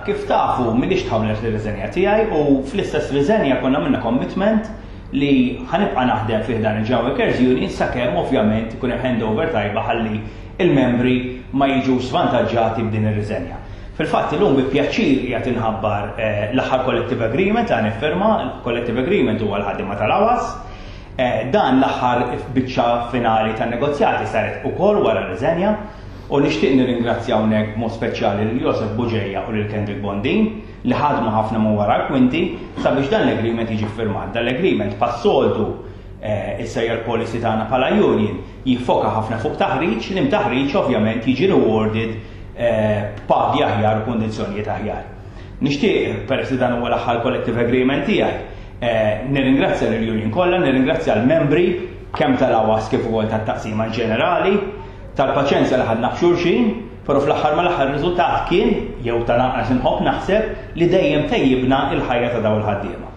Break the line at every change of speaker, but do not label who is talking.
Kif tafu, m'ilix tħawlet l-riżenja tiegħi u fl-istess riżenja konna minna commitment li ħa nibqa' naħdem fih dan il-General Workers Union sakemm ovvjament ikun hemm handover tajba ħalli il-membri ma jiġux svantaġġati b'din ir-riżenja. Fil-fatt illum bi pjaċir qiegħed inħabbar l-aħħar collective agreement li ħa niffirma, il-collective agreement huwa l-ħaddiema tal-AWAS. Dan l-aħħar biċċa finali tan-negozjati saret ukoll wara r-riżenja u nixtieq nirringrazzja hawnhekk b'mod speċjali lil Josef Bugeja u lil Kendrick Bondin li ħadmu ħafna minn wara l-kwinti sabiex dan l-agreement jiġi ffirmat. Dan l-agreement passoltu issa hija l-policy tagħna bħala union jiffoka ħafna fuq taħriġ, li taħriġ ovvjament jiġi rewarded b'pagi aħjar u kundizzjonijiet aħjar. Nixtieq, peress li dan huwa l-aħħar collective agreement tiegħi, nirringrazzja lill-union kollha, nirringrazzja l-membri kemm tal-AWAS kif ukoll tat-taqsima ġenerali, tal-paċenzja li ħadna f'xulxin, però fl-aħħar mal-aħħar riżultat kien, jew tal-anqas inħobb naħseb, li dejjem tejjibna il-ħajja ta' dawn il-ħaddiema.